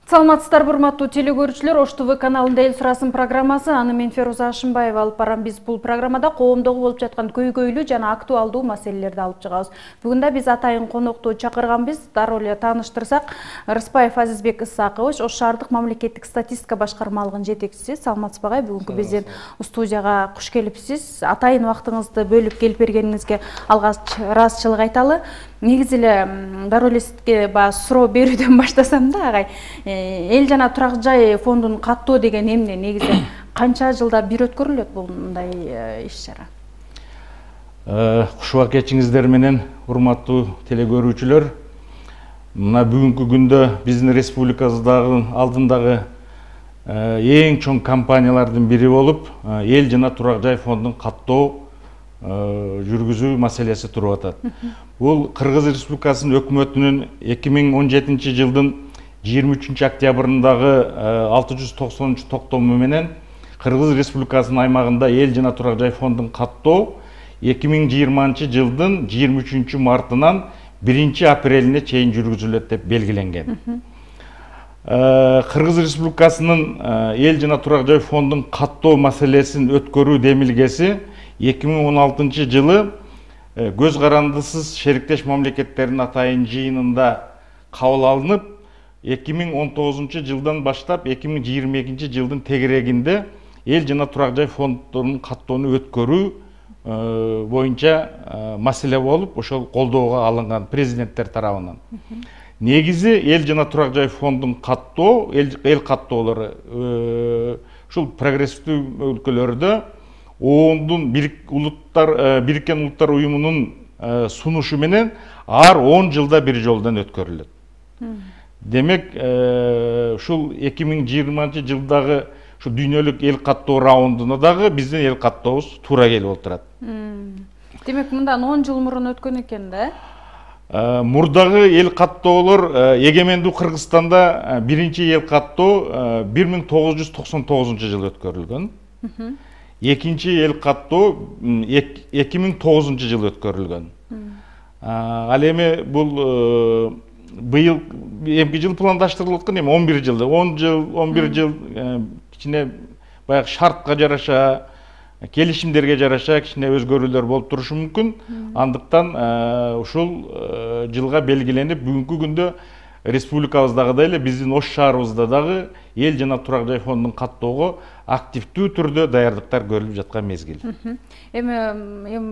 Саламатсыздар, урматтуу телекөрүүчүлөр. Ош ТВ каналында эл сурасын программасы. Аны мен Феруза Ашымбаева алып барам. Биз бул программада коомдогу болуп жаткан көйгөйлүү жана актуалдуу маселелерди алып чыгабыз. Бүгүн да биз атайын конокту чакырганбыз. Дароо эле тааныштырсак, Рыспаев Азизбек Исакович, Ош шаардык мамлекеттик статистика башкармалыгынын жетекчиси. Саламатсызбы агай? Бүгүнкү биздин студияга куш келипсиз. Атайын убактыңызды бөлүп келип бергениңизге алгач ыраазычылык айталы. Негизи эле дароо эле сизге суроо берүүдөн баштасам да, агай. Эл жана турак жай фондун каттоо деген эмне? Негизи канча жылда бир өткөрүлөт мындай иш-чара? Кушубак кечиңиздер менен, урматтуу телекөрүүчүлөр. Мына бүгүнкү күндө биздин республикабыздагы алдындагы эң чоң компаниялардын бири болуп, эл жана турак жай фондун каттоо жүргүзүү маселеси туруп атат. Бул Кыргыз Республикасынын өкмөтүнүн 2017 жылдын 23 октябрындагы 690 токтому менен Кыргыз Республикасынын аймагында эл жана турак жай фондун каттоо 2020 жылдын 23 мартынан 1 апрелине чейин жүргүзүлөт деп белгиленген. Кыргыз Республикасынын эл жана турак жай фондун каттоо маселесин өткөрүү демилгеси 2016 жылы көз карандысыз шериктеш мамлекеттердин атайын жыйынында кабыл алынып, 2019 жылдан баштап 2022 жылдын тегерегинде эл жана турак жай фонддорунун каттоону өткөрүү боюнча маселе болуп, ошол колдоого алынган президенттер тарабынан. Негизи эл жана турак жай фондун каттоо, эл каттоолору ушул прогрессивдүү өлкөлөрдө ООНдун Бириккен Улуттар уюмунун сунушу менен ар 10 жылда бир жолдон өткөрүлөт. Демек, ушул 2020 жылдагы ушу дүйнөлүк эл каттоо раундуна дагы биздин эл каттообуз туура келип отурат. Демек, мындан 10 жыл мурун өткөн экен да? Мурдагы эл каттоолор эгемендүү Кыргызстанда биринчи эл каттоо 1999 жылы өткөрүлгөн. Экинчи эл каттоо 2009 жылы өткөрүлгөн. Ал эми бул быйыл эмки жыл пландаштырылып аткан эми 11 жылда, 11 жыл кичине баягы шартка жараша, келишимдерге жараша кичине өзгөрүүлөр болуп турушу мүмкүн. Андыктан ушул жылга белгиленип, бүгүнкү күндө республикабыздагыдай эле биздин Ош шаарыбызда дагы эл жана турак жай фондун каттоого активдүү түрдө даярдыктар көрүлүп жаткан мезгил. Эми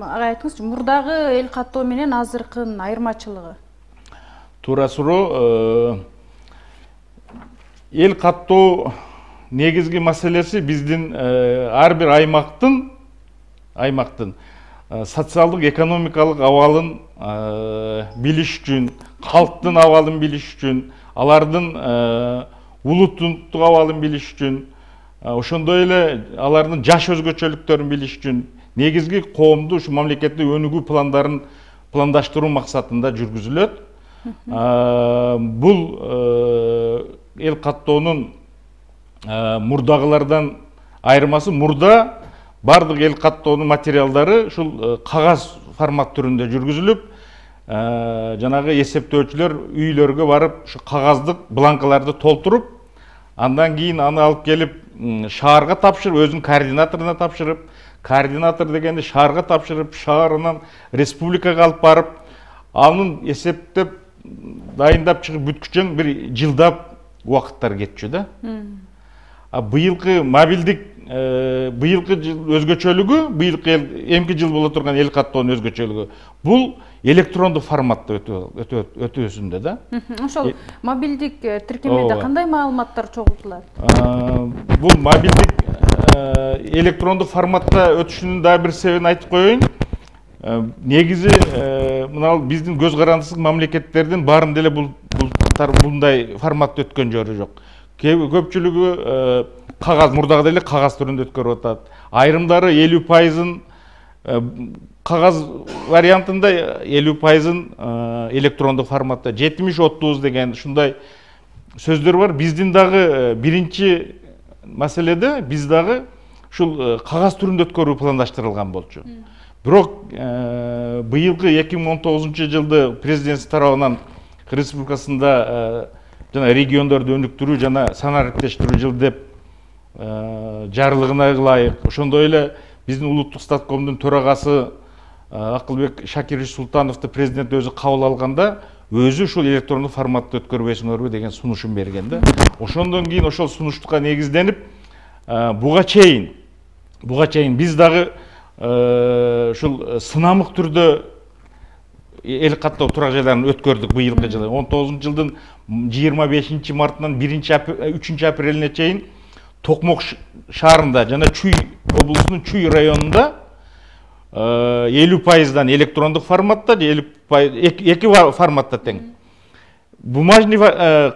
агай айтыңызчы, мурдагы эл каттоо менен азыркынын айырмачылыгы? Туура суроо. Эл каттоо негизги маселеси биздин ар бир аймактын социалдык экономикалык абалын билиш үчүн, калктын абалын билиш үчүн, алардын улуттук абалын билиш үчүн, ошондой эле алардын жаш өзгөчөлүктөрүн билиш үчүн негизги коомду ушу мамлекеттик өнүгүү пландарын пландаштыруу максатында жүргүзүлөт. Бул эл каттоонун мурдагылардан айырмасы, мурда бардык эл каттоонун материалдары ушул кагаз формат түрүндө жүргүзүлүп, жанагы эсептөөчүлөр үйлөргө барып ушу кагаздык бланкаларды толтуруп, андан кийин аны алып келип шаарга тапшырып, өзүнүн координаторуна тапшырып, координатор дегенди шаарга тапшырып, шаарынан республикага алып барып, анын эсептеп дайындап чыгып бүткүчөң бир жылдап убакыттар кетчү да. Быйылкы мобилдик быйылкы өзгөчөлүгү, быйылкы эмки жыл боло турган эл каттоонун өзгөчөлүгү бул электрондук форматта өтүүсүндө да. Ошол мобилдик тиркемеде кандай маалыматтар чогултулат? Бул мобилдик электрондук форматта өтүшүнүн дагы бир себебин айтып коеюн. Негизи мына биздин көз карандысыз мамлекеттердин баарында эле мындай форматта өткөн жери жок. Көпчүлүгү кагаз, мурдагыдай эле кагаз түрүндө өткөрүп атат. Айрымдары 50%-ын кагаз вариантында, 50%-ын электрондук форматта. 70-30 деген ушундай сөздөр бар. Биздин дагы биринчи маселеде биз дагы ушул кагаз түрүндө өткөрүү пландаштырылган болчу. Бирок быйылкы 2019 жылды президент тарабынан республикасында жана региондорду өнүктүрүү жана санариптештирүү жылы деп жарлыгына ылайык. Ошондой эле биздин улуттук статкомдун төрагасы Акылбек Шакирович Султановду президент өзү кабыл алганда өзү ушул электрондук форматта өткөрбөйсүңөрбү деген сунушун берген да. Ошондон кийин ошол сунуштукка негизденип буга чейин биз дагы ушул сынамык түрдө эл каттоо турак жайларын өткөрдүк быйылкы жылы. 19 жылдын 25 мартынан 3 апрелине чейин Токмок шаарында жана Чүй облусунун Чүй районунда 50%дан электрондук форматта, 2 форматта тең. Бумажный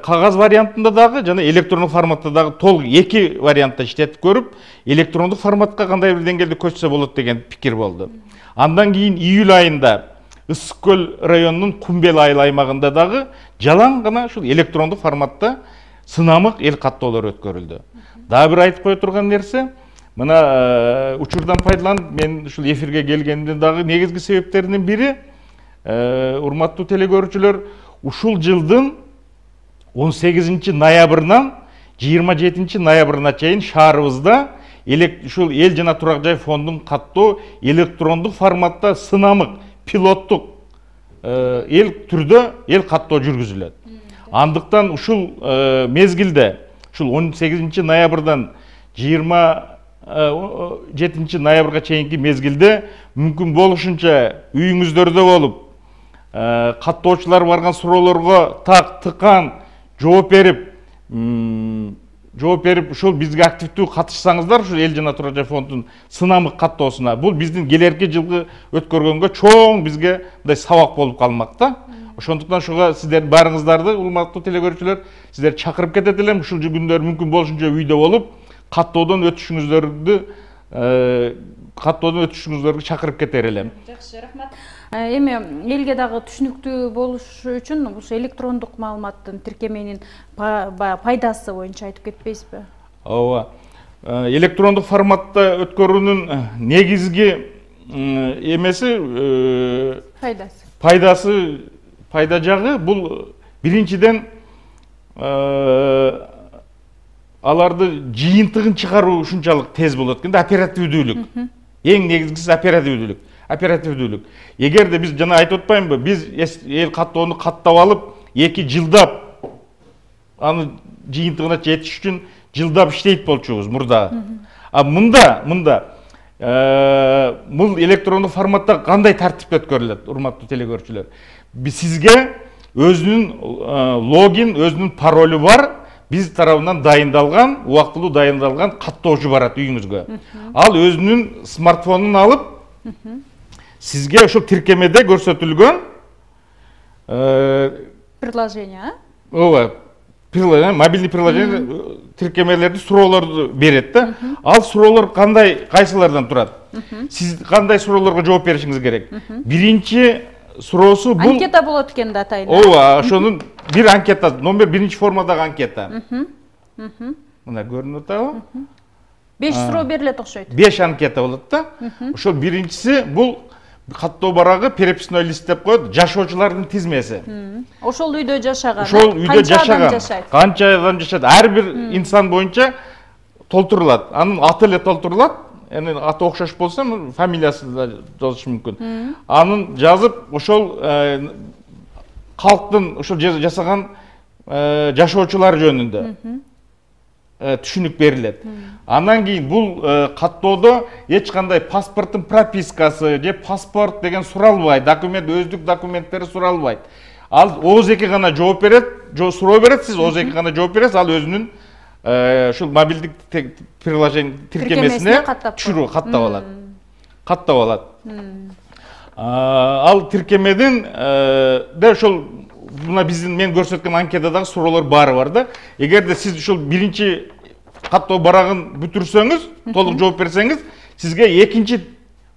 кагаз вариантында дагы жана электрондук форматта дагы толук 2 вариантта иштетип көрүп, электрондук форматка кандай бир деңгээлде көчсө болот деген пикир болду. Андан кийин июль айында Ысык көл районунун Кумбел айыл аймагында дагы жалаң гана ушул электрондук форматта сынамык эл каттоолор өткөрүлдү. Дагы бир айтып кое турган нерсе, мына учурдан пайдаланып мен ушул эфирге келгендин дагы негизги себептеринин бири, урматтуу телекөрүүчүлөр, ушул жылдын 18 ноябрынан 27 ноябрына чейин шаарыбызда ушул эл жана турак жай фондун каттоо электрондук форматта сынамык пилоттук эл түрдө ел каттоо жүргүзүлөт. Андыктан ушул мезгилде ушул 18 ноябрдан 27 ноябрга чейинки мезгилде мүмкүн болушунча үйүңүздөрдө болуп, каттоочулар барган суроолорго так тыкан жооп берип ушул бизге активдүү катышсаңыздар, ушул эл жана турак жай фондунун сынамык каттоосуна, бул биздин келерки жылгы өткөргөнгө чоң бизге мындай сабак болуп калмак да. Ошондуктан ушуга сиздер баарыңыздарды, урматтуу телекөрүүчүлөр, сиздер чакырып кетет элем. Ушул күндөр мүмкүн болушунча үйдө болуп, каттоодон өтүшүңүздөргө чакырып кетер элем. Жакшы, рахмат. Эми элге дагы түшүнүктүү болуш үчүн ушул электрондук маалыматтын тиркеменин пайдасы боюнча айтып кетпейсизби? Ооба. Электрондук форматта өткөрүүнүн негизги эмеси пайда жагы бул биринчиден аларды жыйынтыгын чыгаруу ушунчалык тез болот экен да, оперативдүүлүк. Эң негизгиси оперативдүүлүк. Эгерде биз жана айтып атпаймынбы, биз эл каттоону каттап алып, 2 жылдап аны жыйынтыгына жетиш үчүн жылдап иштейт болчубуз мурда. А мында бул электрондук форматта кандай тартипте өткөрүлөт, урматтуу телекөрүүчүлөр? Сизге өзүнүн логин, өзүнүн паролу бар, биз тарабынан дайындалган, убактылуу дайындалган каттоочу барат үйүңүзгө. Ал өзүнүн смартфонун алып, сизге ошол тиркемеде көрсөтүлгөн приложение, ооба, мобилдик приложение тиркемелерди, суроолорду берет да. Ал суроолор кайсылардан турат? Сиз кандай суроолорго жооп беришиңиз керек? Биринчи суроосу бул анкета болот экен да, атайын. Ооба, ошонун бир анкета, номер 1 формадагы анкета. Мына көрүнүп атабы? 5 суроо берилет окшойт. 5 анкета болот да. Ошол биринчиси бул каттоо барагы переписной лист деп коет, жашоочулардын тизмеси. Ошол үйдө жашаган. Ошол үйдө жашаган. Канча адам жашайт? Ар бир инсан боюнча толтурулат. Анын аты эле толтурулат. Эми аты окшош болсо, фамилиясы да жазышы мүмкүн. Анын жазып, ошол калктын ошол жасаган жашоочулар жөнүндө түшүнүк берилет. Андан кийин бул каттоодо эч кандай паспорттун пропискасы же паспорт деген суралбайт, өздүк документтери суралбайт. Ал ооз-2 гана жооп берет, суроо берет, сиз ооз-2 гана жооп бересиз, ал өзүнүн ушул мобилдик приложение тиркемесине түшүрүү каттап алат. Ал тиркемедин ошол мына биздин мен көрсөткөн анкетадагы суроолор баары бар да. Эгерде сиз ушул биринчи каттоо барагын бүтүрсөңүз, толук жооп берсеңиз, сизге экинчи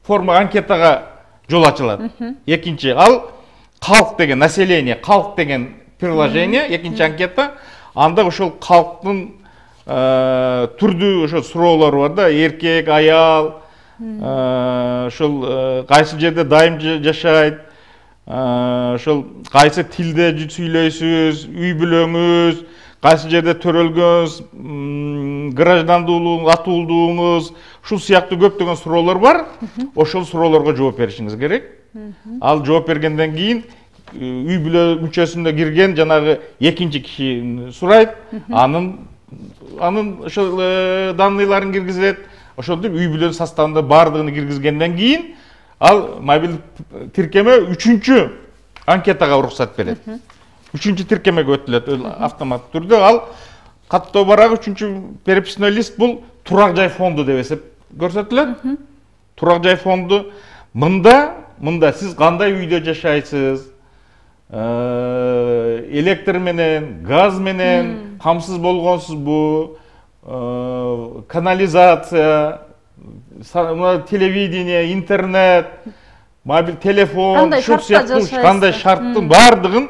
форма анкетага жол ачылат. Экинчи ал калк деген население, калк деген приложение, экинчи анкета. Анда ошол калктын түрдүү ошол суроолору бар да, эркек, аял, ошол кайсы жерде дайым жашайт, ошол кайсы тилде сүйлөйсүз, үй бүлөңүз, кайсы жерде төрөлгөнүз, граждандуулугуңуз, атуулдугуңуз, ушул сыяктуу көптөгөн суроолор бар. Ошол суроолорго жооп беришиңиз керек. Ал жооп бергенден кийин үй бүлө мүчөсүнө кирген жанагы экинчи киши сурайт, анын ошол данныйларын киргизет. Ошентип үй бүлөнүн составында бардыгын киргизгенден кийин ал мобилдик тиркеме үчүнчү анкетага уруксат берет. Үчүнчү тиркемеге өтүлөт автоматтык түрдө. Ал каттоо барагы үчүнчү переписной лист бул турак жай фонду деп эсеп көрсөтүлөт. Турак жай фонду мында сиз кандай үйдө жашайсыз? Электр менен, газ менен камсыз болгонсузбу? Канализация, телевидение, интернет, мобиль телефон, кандай шарттын бардыгын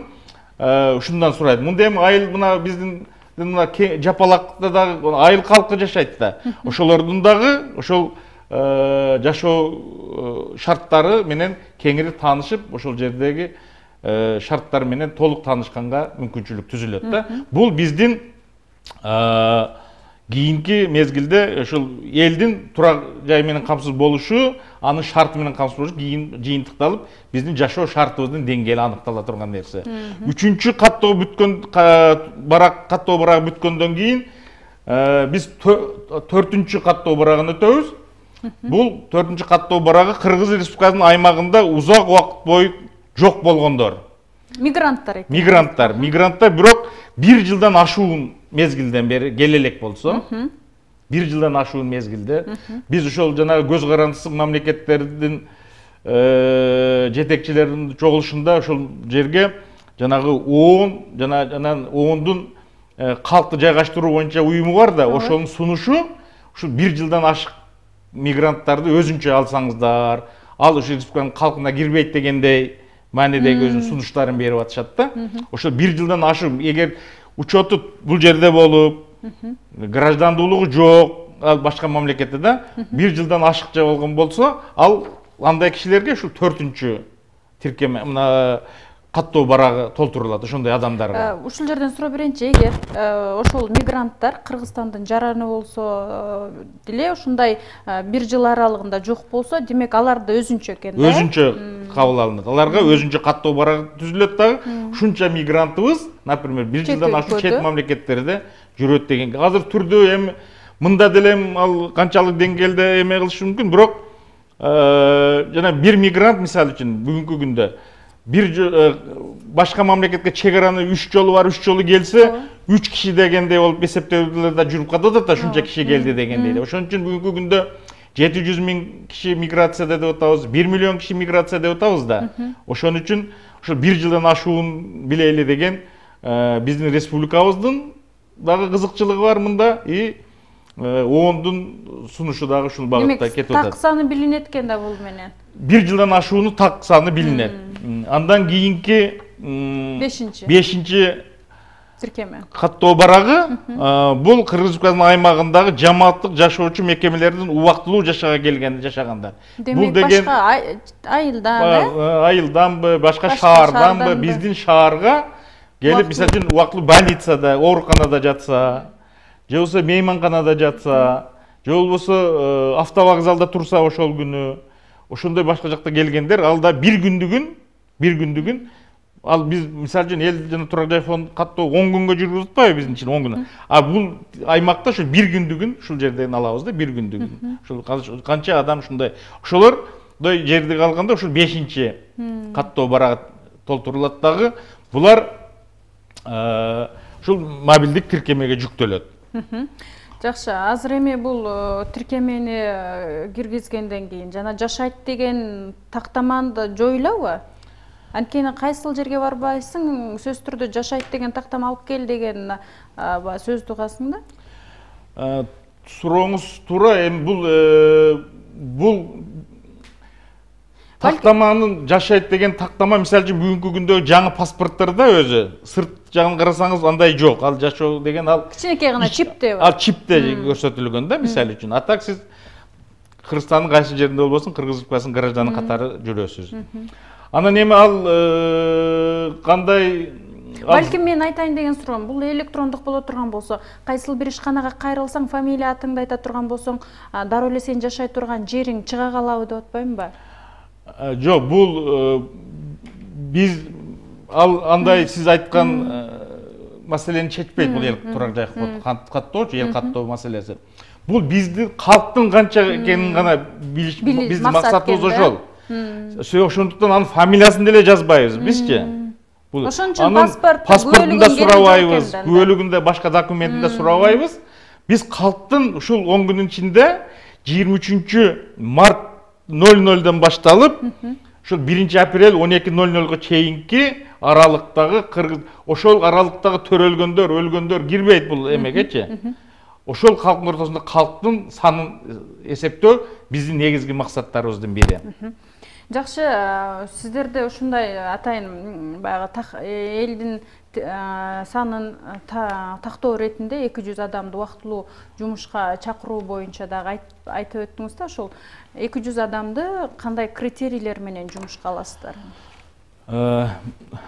ушундан сурайт. Мында эми айыл мына биздин жапалакта дагы айыл калкы жашайт да. Ошолордун дагы ошол жашоо шарттары менен кеңири таанышып, ошол жердеги шарттар менен толук таанышканга мүмкүнчүлүк түзүлөт да. Бул биздин кийинки мезгилде ошол элдин турак жай менен камсыз болушу, анын шарты менен камсыз болушу кийин жыйынтыкталып, биздин жашоо шартыбыздын деңгээли аныктала турган нерсе. Үчүнчү каттоо барак бүткөндөн кийин биз төртүнчү каттоо барагын өтөбүз. Бул төртүнчү каттоо барагы Кыргыз Республикасынын аймагында узак убакыт бою жок болгондор. Мигранттар. Мигранттар бирок 1 жылдан ашуун мезгилден бери келе элек болсо, 1 жылдан ашуун мезгилде биз ошол жанагы көз карандысыз мамлекеттердин жетекчилеринин чогулушунда ошол жерге жанагы ООН жана ООНдун калкты жайгаштыруу боюнча уюму бар да, ошонун сунушу ушул 1 жылдан ашык мигранттарды өзүнчө алсаңыздар, ал ошол республиканын калкына кирбейт дегендей маанидеги өзүнүн сунуштарын берип атышат да. Ошол 1 жылдан ашык, эгер учету бул жерде болуп, граждандуулугу жок, ал башка мамлекетте да 1 жылдан ашыкча болгон болсо, ал андай кишилерге ушул 4-үнчү тиркеме мына каттоо барагы толтурулат ошондой адамдарга. Ушул жерден суроо берейинчи, эгер ошол мигранттар Кыргызстандын жараны болсо деле ушундай 1 жыл аралыгында жок болсо, демек аларды өзүнчө экен да? Өзүнчө кабыл алынат. Аларга өзүнчө каттоо барагы түзүлөт дагы. Ушунча мигрантыбыз, например, 1 жылдан ашык чет мамлекеттерде жүрөт деген. Азыр түрдө эми мында деле ал канчалык деңгээлде эме кылышы мүмкүн, бирок жана бир мигрант мисалы үчүн бүгүнкү күндө башка мамлекетке чек араны 3 жолу бар, 3 жолу келсе, 3 киши дегендей болуп эсептөөдө жүрүп катат да, ушунча киши келди дегендей. Ошон үчүн бүгүнкү күндө 700 миң киши миграцияда деп атабыз, 1 миллион киши миграция деп атабыз да. Ошон үчүн ошо 1 жылдан ашуун билели деген биздин республикабыздын дагы кызыкчылыгы бар мында и ООНдун сунушу дагы ушул багытта кетип атат. Так саны билинет экен да бул менен. 1 жылдан ашууну так саны билинет. Андан кийинки 5-чи тиркеме каттоо барагы бул Кыргыз Республикасынын аймагындагы жамааттык жашоочу мекемелердин убактылуу жашагандар. Бул деген башка айылданбы, башка шаарданбы, биздин шаарга келип, мисалы үчүн убактылуу больницада, ооруканада жатса, же болбосо мейманканада жатса, же болбосо автовокзалда турса ошол күнү, ошондой башка жакта келгендер, ал да бир күндүгүн, ал биз мисалы үчүн эл жана турак жай фонд каттоо 10 күнгө жүрүп атпайбы биздин ичинде 10 күн. А бул аймакта ошо бир күндүгүн ушул жерден алабыз да, бир күндүгүн. Ошол канча адам ушундай. Ошолордой жерди калганда ушул 5-чи каттоо барагы толтурулат дагы. Булар ушул мобилдик тиркемеге жүктөлөт. Жакшы, азыр эми бул тиркемени киргизгенден кийин жана жашайт деген тактаманы жоюлабы? Анткени кайсыл жерге барбайсың, сөз түрдө жашайт деген тактама алып кел деген сөздү угасың да? Сурооңуз туура, эми бул тактаманын жашайт деген тактама мисалы үчүн бүгүнкү күндө жаңы паспорттарда өзү сырт жагын карасаңыз андай жок. Ал жашоо деген ал кичинекей гана чипте бар. Ал чипте көрсөтүлгөн да, мисалы үчүн. А так сиз Кыргызстандын кайсы жеринде болбосун Кыргыз Республикасынын гражданы катары жүрөсүз. Анан эми ал кандай балким мен айтайын деген суроом, бул электрондук боло турган болсо, кайсыл бир ишканага кайрылсаң, фамилия атыңды айта турган болсоң, дароо эле сен жашай турган жериң чыга калабы деп атпаймынбы? Жок, бул биз андай сиз айткан маселени чечпейт, бул эл турак жай каттоочу, эл каттоо маселеси. Бул биздин калктын канча экенин гана билиш, биздин максатыбыз ошол. Ошондуктан анын фамилиясын деле жазбайбыз бизчи. Ошон үчүн паспортунда сурабайбыз, күбөлүгүндө башка документинде сурабайбыз. Биз калктын ушул 10 күнүн ичинде 23 март 00ден башталып, ушул 1 апрель 12:00га чейинки аралыктагы ошол аралыктагы төрөлгөндөр, өлгөндөр кирбейт бул эмегечи. Ошол калктын ортосунда калктын санын эсептөө биздин негизги максаттарыбыздын бири. Жакшы, сиздерде ушундай атайын баягы элдин санын тактоо иретинде 200 адамды убактылуу жумушка чакыруу боюнча дагы айтып өттүңүз да, ошол 200 адамды кандай критерийлер менен жумушка аласыздар?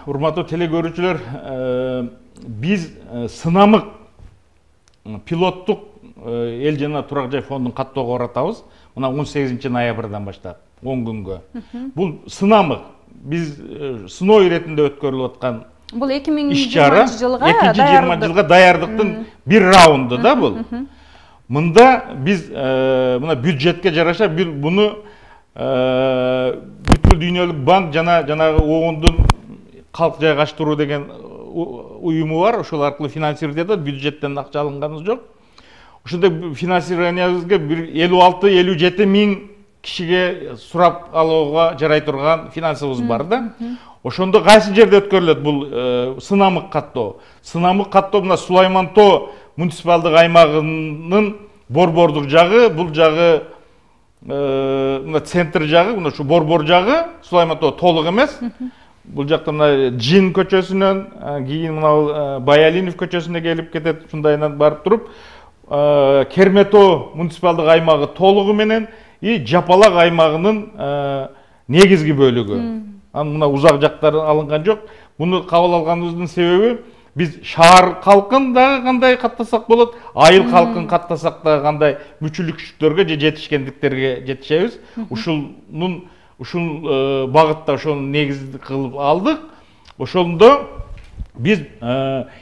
Урматтуу телекөрүүчүлөр, биз сынамык пилоттук эл жана турак жай фондун каттоого баратабыз. Мына 18 ноябрдан баштап 10 күнгө. Бул сынамык. Биз сыноо иретинде өткөрүлүп аткан бул 2020 жылга даярдыктын бир раунду да бул. Мында биз мына бюджетке жараша буну бүткүл дүйнөлүк банк жанагы ООНдун калк жайгаштыруу деген уюму бар, ошол аркылуу финансировать этет, бюджеттен акча алынганыбыз жок. Ошондой финансированиябызга 56-57 миң кишиге сурап алууга жарай турган финансыбыз бар да. Ошондо кайсы жерде өткөрүлөт бул сынамык каттоо? Сынамык каттоо мына Сулайман Тоо муниципалдык аймагынын борбордук жагы, бул жагы мына центр жагы, мына ушу борбор жагы, Сулайман Тоо толук эмес. Бул жакта мына Жин көчөсүнөн, кийин мына Баялинов көчөсүнө келип кетет, ушундайынан барып туруп, Кермето муниципалдык аймагы толугу менен Жапалак аймагынын негизги бөлүгү. Анын мына узак жактары алынган жок. Буну кабыл алганыбыздын себеби биз шаар калкын дагы кандай каттасак болот, айыл калкын каттасак да кандай мүчүлүкчүлүктөргө же жетишкендиктерге жетишебиз. Ушул багытта ошону негиз кылып алдык. Ошондо биз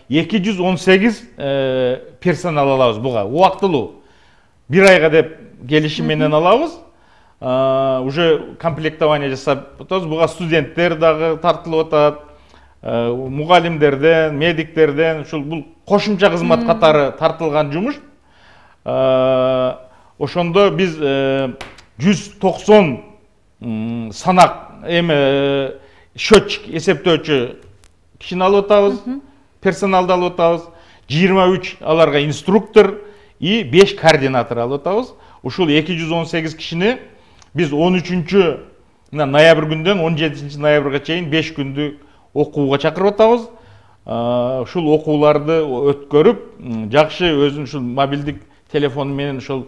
218 персонал алабыз буга, убактылуу. 1 айга деп келишим менен алабыз. Уже комплектование жасап атабыз. Буга студенттер дагы тартылып атат. Мугалимдерден, медиктерден, ушул бул кошумча кызмат катары тартылган жумуш. Ошондо биз 190 санак счетчик эсептөөчү кишини алып атабыз, персоналды алып атабыз, 23 аларга инструктор и 5 координатор алып атабыз. Ушул 218 кишини биз 13 ноябрь күндөн 17 ноябрга чейин 5 күндүк окууга чакырып атабыз. Ушул окууларды өткөрүп, жакшы өзүнүн ушул мобилдик телефону менен ушул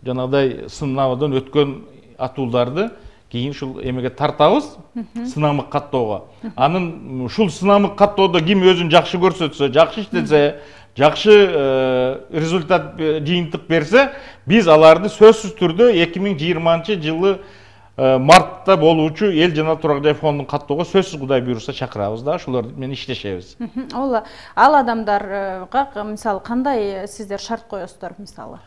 жанагыдай сынабдан өткөн атууларды кийин ушул эмеге тартабыз, сынамык каттоого. Анын ушул сынамык каттоодо ким өзүн жакшы көрсөтсө, жакшы иштесе, жакшы результат жыйынтык берсе, биз аларды сөзсүз түрдө 2020 жылы мартта болуучу эл жана турак жай фондун каттоого сөзсүз Кудай буйруса чакырабыз да, ошолор менен иштешебиз. Ал адамдарга мисалы кандай сиздер шарт коесуздар мисалы?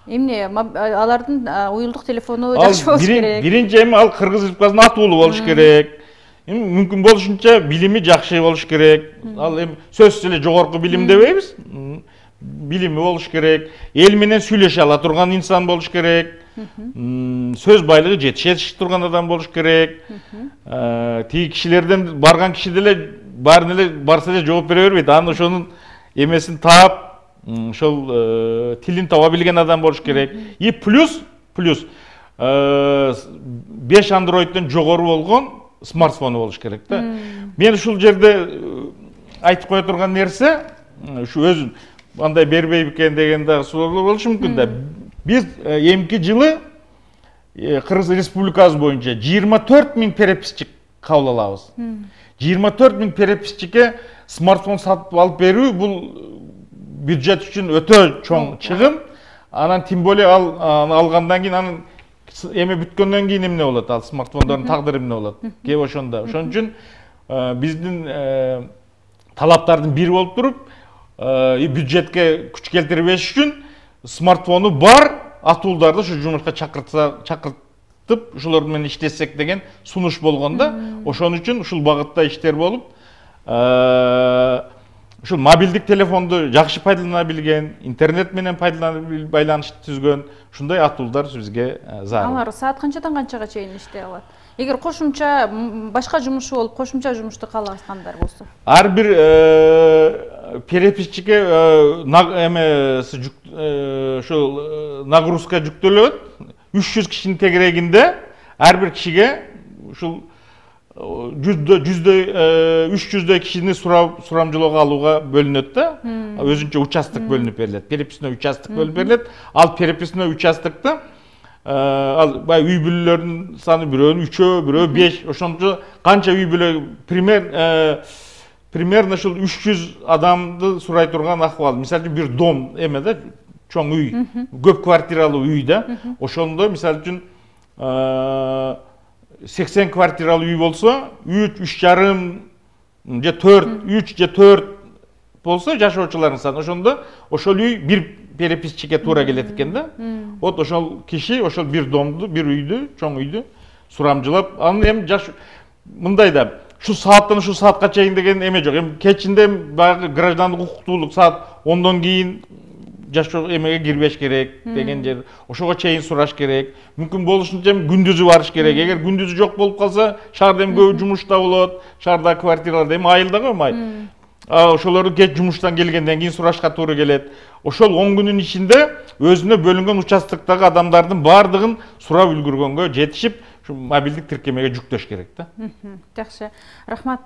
Эмне алардын уюлдук телефону жакшы болуш керек? Биринчи эми ал Кыргыз Республикасынын атуулу болуш керек. Мүмкүн болушунча билими жакшы болуш керек. Ал эми сөзсүз эле жогорку билим дебейбиз. Билими болуш керек. Эл менен сүйлөшө ала турган инсан болуш керек. Сөз байлыгы жетише турган адам болуш керек. Тиги кишилерден барган киши деле баарын эле барса эле жооп бере бербейт. Анын ошонун эмесин таап, ошол тилин таба билген адам болуш керек. И плюс 5 Android'ден жогору болгон смартфону болуш керек да. Мен ушул жерде айтып кое турган нерсе, ушу өзүн андай бербейм экен деген дагы суроолор болушу мүмкүн да. Биз эмки жылы Кыргыз Республикасы боюнча 24 миң переписчик кабыл алабыз. 24 000 переписчике смартфон сатып алып берүү бул бюджет үчүн өтө чоң чыгым. Анан тем более алгандан кийин анын эме бүткөндөн кийин эмне болот? Ал смартфондордун тагдыры эмне болот? Кеп ошондо. Ошон үчүн биздин талаптардын бири болуп туруп, бюджетке күч келтирбеш үчүн смартфону бар атуулдарды ушу жумушка чакыртып, ошолор менен иштесек деген сунуш болгондо, ошон үчүн ушул багытта иштер болуп, ушул мобилдик телефонду жакшы пайдалана билген, интернет менен байланыш түзгөн ушундай атуулдар бизге зарыл. Алар саат канчадан канчага чейин иштей алат? Эгер кошумча башка жумушу болуп, кошумча жумушту кааласаңдар болсо. Ар бир переписчике ушул нагрузка жүктөлөт. 300 кишинин тегерегинде ар бир кишиге ушул 300 кишини сурамжылоого алууга бөлүнөт да. Өзүнчө участок бөлүнүп берилет. Переписной участок бөлүнүп берилет. Ал переписной участокто ал бай үй бүлөлөрдүн саны бирөөнүн 3, бирөө 5, ошончо канча үй бүлө примерно ушул 300 адамды сурай турган акыбал. Мисалы үчүн бир дом эме да, чоң үй, көп квартиралуу үй да. Ошондо мисалы үчүн 80 квартиралуу үй болсо, 3,5 же 3 же 4 болсо жашоочулардын саны. Ошондо ошол үй бир переписчике туура келет экен да. Вот ошол киши ошол бир домду, бир үйдү, чоң үйдү сурамжылап, анын эми мындай да, шу сааттан шу саатка чейин деген эме жок. Эми кечинде баягы граждандык укуктуулук саат 10дон кийин жашоо эмеге кирбеш керек деген жер. Ошого чейин сураш керек. Мүмкүн болушунча күндүзү барыш керек. Эгер күндүзү жок болуп калса, шаарда эми көп жумушта болот. Шаардагы квартираларда эми айылда коймай. Ошолорду кеч жумуштан келгенден кийин сурашка туура келет. Ошол 10 күнүн ичинде өзүнө бөлүнгөн участоктогу адамдардын баардыгын сурап үлгүргөнгө жетишип, ушу мобилдик тиркемеге жүктөш керек да. Жакшы. Рахмат.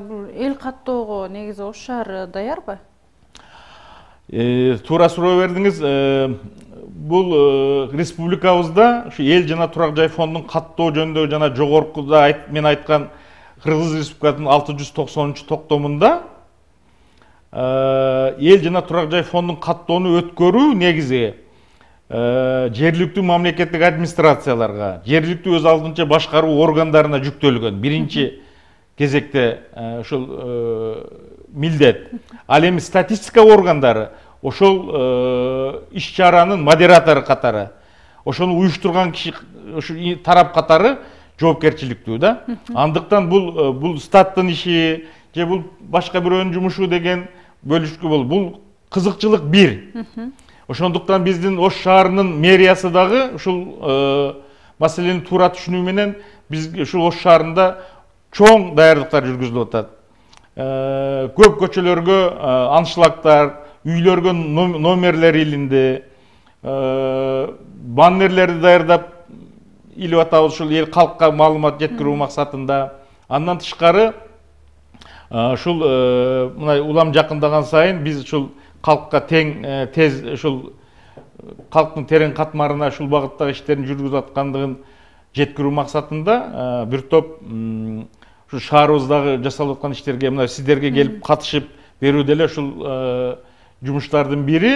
Бул эл каттоого негизи Ош шаары даярбы? Туура суроо бердиңиз. Бул республикабызда ушу эл жана турак жай фондун каттоо жөнүндө жана жогоркуда мен айткан Кыргыз Республикасынын 690-токтомунда эл жана турак жай фондун каттоону өткөрүү негизи жергиликтүү мамлекеттик администрацияларга, жергиликтүү өз алдынча башкаруу органдарына жүктөлгөн биринчи кезекте ушул милдет. Ал эми статистика органдары ошол иш-чаранын модератору катары, ошону уюштурган киши ушу тарап катары жоопкерчиликтүү да. Андыктан бул статтын иши же бул башка бирөөнүн жумушу деген бөлүшкү бул кызыкчылык бир. Ошондуктан биздин Ош шаарынын мэриясы дагы ушул маселени туура түшүнүү менен биз ушул Ош шаарында чоң даярдыктар жүргүзүлүп атат. Көп көчөлөргө аншлагтар, үйлөргө номерлер илинди, баннерлерди даярдап илип атабыз ушул эл калкка маалымат жеткирүү максатында. Андан тышкары ушул мына улам жакындаган сайын биз ушул калкка тең тез ушул калктын терең катмарына ушул багыттагы иштерин жүргүзүп аткандыгын жеткирүү максатында бир топ ушу шаарыбыздагы жасалып аткан иштерге мына сиздерге келип катышып берүү деле ушул жумуштардын бири.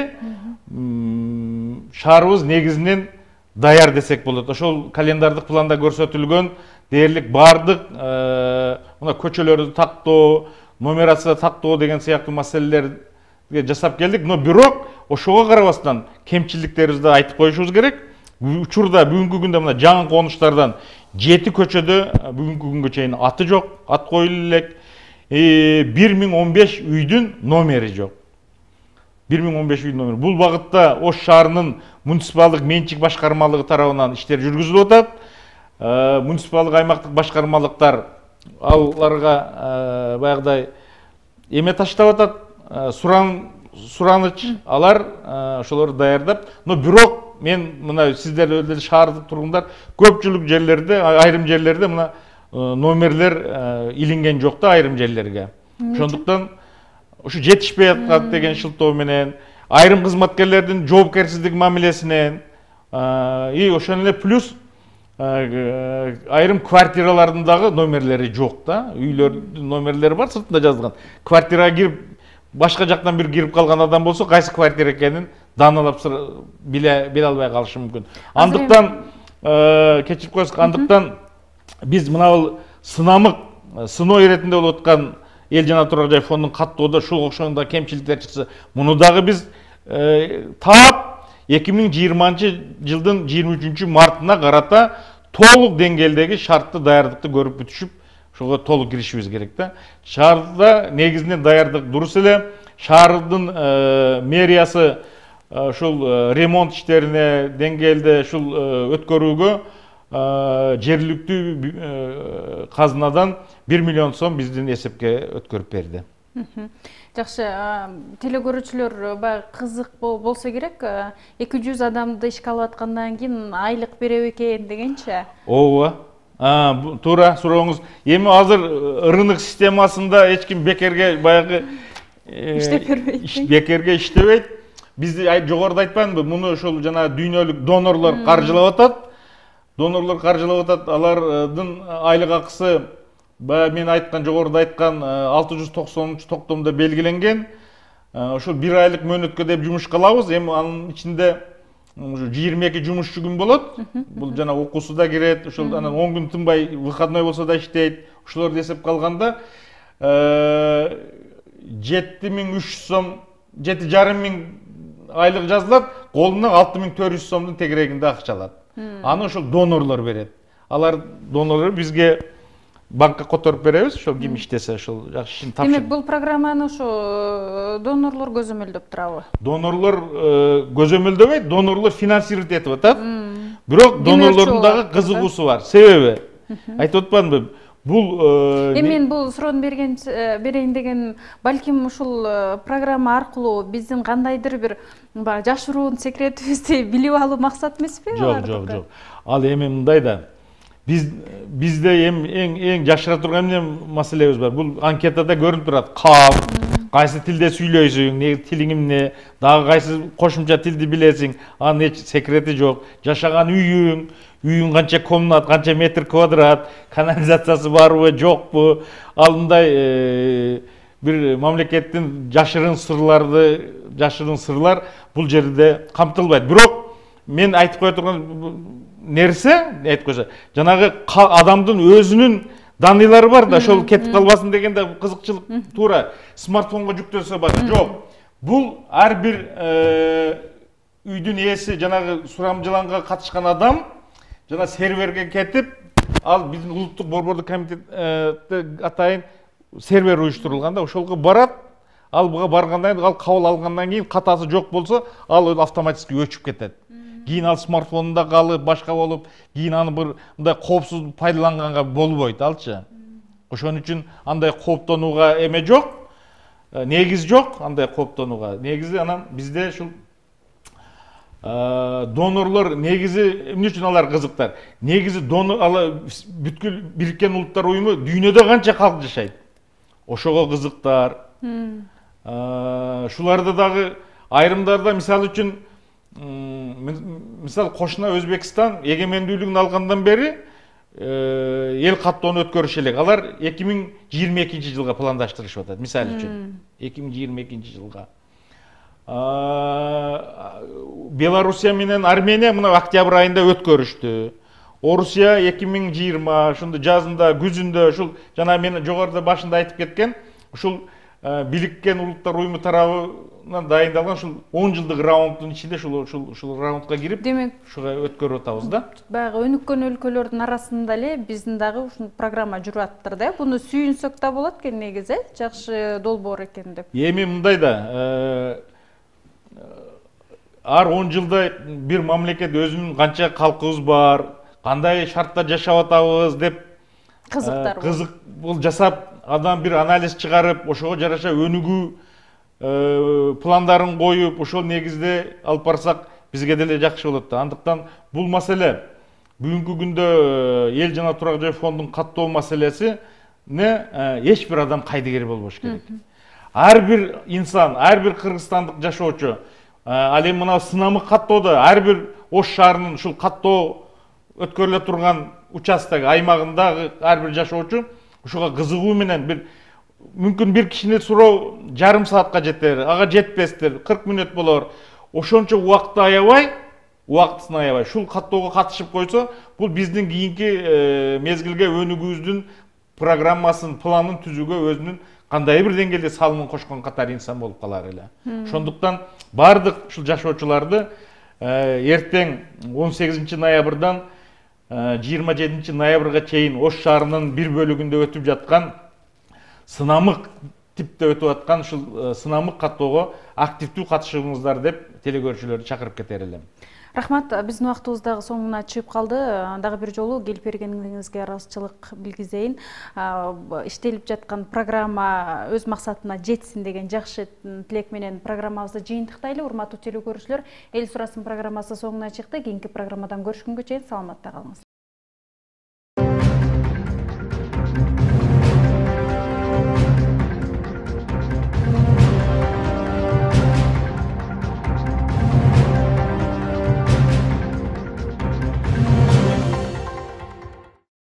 Шаарыбыз негизинен даяр десек болот. Ошол календардык планда көрсөтүлгөн дээрлик бардык мына көчөлөрдү тактоо, нумерация тактоо деген сыяктуу маселелерди жасап келдик. Но бирок ошого карабастан кемчиликтерибизди айтып коюшубуз керек. Учурда бүгүнкү күндө мына жаңы конуштардан 7 көчөдө бүгүнкү күнгө чейин аты жок, ат коюлуп элек. 1015 үйдүн номери жок. 1015 үйдүн номери. Бул багытта Ош шаарынын муниципалдык менчик башкармалыгы тарабынан иштер жүргүзүлүп атат. Муниципалдык аймактык башкармалыктар аларга баягыдай эме таштап атат, сураныч, алар ошолорду даярдап. Но бирок мен мына сиздер деле шаардык тургундар көпчүлүк жерлерде, айрым жерлерде мына номерлер илинген жок да айрым жерлерге. Ошондуктан ушу жетишпей аткан деген шылтоо менен, айрым кызматкерлердин жоопкерсиздик мамилесинен, ошон эле плюс айрым квартиралардын дагы номерлери жок да, үйлөрдүн номерлери бар, сыртында жазылган. Квартирага кирип, башка жактан бир кирип калган адам болсо, кайсы квартира экенин даналап биле албай калышы мүмкүн. Андыктан кечирип коесуз, андыктан биз мына сынамык, сыноо иретинде болуп аткан эл жана турак жай фондун каттоодо ушул окшогондо кемчиликтер чыкса, муну дагы биз таап 2020-жылдын 23 мартына карата толук деңгээлдеги шартты даярдыкты көрүп бүтүшүп, ошого толук киришибиз керек да. Шаарда негизинен даярдык дурус эле, шаардын мэриясы ушул ремонт иштерине деңгээлде ушул өткөрүүгө жергиликтүү казынадан 1 миллион сом биздин эсепке өткөрүп берди. Жакшы, теле көрүүчүлөр баягы кызык болсо керек, 200 адамды ишке алып аткандан кийин айлык береби экен дегенчи. Ооба. Туура сурооңуз. Эми азыр рынок системасында эч ким бекерге баягы бекерге иштебейт. Биз жогоруда айтканбы, муну ошол жана дүйнөлүк донорлор каржылап атат. Алардын айлык акысы мен айткан, жогоруда айткан 690 токтомдо белгиленген. Ошол 1 айлык мөөнөткө деп жумушка алабыз. Эми анын ичинде 22 жумушчу күн болот. Бул жана окуусу да кирет. Ошол анан 10 күн тынбай выходной болсо да иштейт. Ошолорду эсепке алганда 7300 сом, 7,5 айлык жазылат, колунан 6400 сомдун тегерегинде акча алат. Аны ошол донорлор берет. Алар донорлор бизге банкка которуп беребиз, ошол ким иштесе ошол жакшы ишин тапшырып. Демек, бул программаны ошо донорлор көзөмөлдөп турабы? Донорлор көзөмөлдөбөйт, донорлор финансировать этип атат. Бирок донорлордун дагы кызыгуусу бар. Себеби айтып атпадымбы? Мен бул суроону берейин деген, балким ушул программа аркылуу биздин кандайдыр бир жашыруун секретибизди билип алуу максат эмеспи? Жок. Ал эми мындай да. Бизде эң жашыра турган маселебиз бар. Бул анкетада көрүнүп турат. Кайсы тилде сүйлөйсүң, тилиң эмне, дагы кайсы кошумча тилди билесиң, анын эч секрети жок. Жашаган үйүң канча комнат, канча метр квадрат, канализациясы барбы, жокпу? Ал мындай бир мамлекеттин жашырын сырлар бул жерде камтылбайт. Бирок мен айтып кое турган нерсе, айтып койсо, жанагы адамдын өзүнүн даныйлары бар да, ошол кетип калбасын дегенде кызыкчылык туура смартфонго жүктөлсө болот. Жок. Бул ар бир үйдүн ээси, жанагы сурамжыланга катышкан адам жана серверге кетип, ал биздин улуттук борбордук комитетте атайын сервер уюштурулган да, ошолго барат. Ал буга баргандан кийин, ал кабыл алгандан кийин катасы жок болсо, ал автоматически өчүп кетет. Кийин ал смартфонунда калып, башка болуп, кийин аны бир мындай коопсуз пайдаланганга болбойт алчы. Ошон үчүн андай кооптонууга эме жок, негиз жок андай кооптонууга. Негизи анан бизде ушул донорлор негизи эмне үчүн алар кызыктар? Негизи бүткүл Бириккен Улуттар Уюму дүйнөдө канча калк жашайт? Ошого кызыктар. Шуларда дагы айрымдарда мисалы үчүн мисал кошуна Өзбекстан эгемендүүлүгүн алгандан бери эл каттоону өткөрүш элек. Алар 2022-жылга пландаштырышып атат, мисалы үчүн. 2022-жылга. Белоруссия менен Армения мына октябрь айында өткөрүштү. Орусия 2020, ошондо жазында, күзүндө, ушул жана мен жогоруда башында айтып кеткен, ушул Бириккен Улуттар Уюму тарабынан дайындалган ушул 10 жылдык раунддун ичинде ушул раундга кирип, демек, ушуга өткөрүп атабыз да. Баягы өнүккөн өлкөлөрдүн арасында эле биздин дагы ушул программа жүрүп аттыр да. Буну сүйүнсөк да болот экен негизи, жакшы долбоор экен деп. Эми мындай да, ар 10 жылда бир мамлекет өзүнүн канча калкыбыз бар, кандай шартта жашап атабыз деп кызык бул жасап, адам бир анализ чыгарып, ошого жараша өнүгүү пландарын коюп, ошол негизде алып барсак бизге деле жакшы болот да. Андыктан бул маселе бүгүнкү күндө эл жана турак жай фондун каттоо маселеси эч бир адам кайдыгер болбош керек. Ар бир инсан, ар бир кыргызстандык жашоочу, ал эми мына сынамык каттоодо ар бир Ош шаарынын ушул каттоо өткөрүлө турган участок аймагындагы ар бир жашоочу ушуга кызыгуу менен мүмкүн бир кишини суроо жарым саатка жетер, ага жетпестир, 40 мүнөт болор. Ошончо убакытты аябай, убактысын аябай ушул каттоого катышып койсо, бул биздин кийинки мезгилге өнүгүүбүздүн программасын, планын түзүүгө өзүнүн кандай бир деңгээлде салымын кошкон катар инсан болуп калар эле. Ошондуктан бардык ушул жашоочуларды эртең 18 ноябрдан 27 ноябрга чейин Ош шаарынын бир бөлүгүндө өтүп жаткан сынамык типте өтүп аткан ушул сынамык каттоого активдүү катышыңыздар деп телекөрүүчүлөрдү чакырып кетер элем. Рахмат, биздин убактыбыз дагы соңуна чыгып калды. Дагы бир жолу келип бергениңизге ыраазычылык билгизейин. Иштелип жаткан программа өз максатына жетсин деген жакшы тилек менен программабызды жыйынтыктайлы. Урматтуу телекөрүүчүлөр, Эл сурасын программасы соңуна чыкты. Кийинки программадан көрүшкөнгө чейин саламатта калыңыз.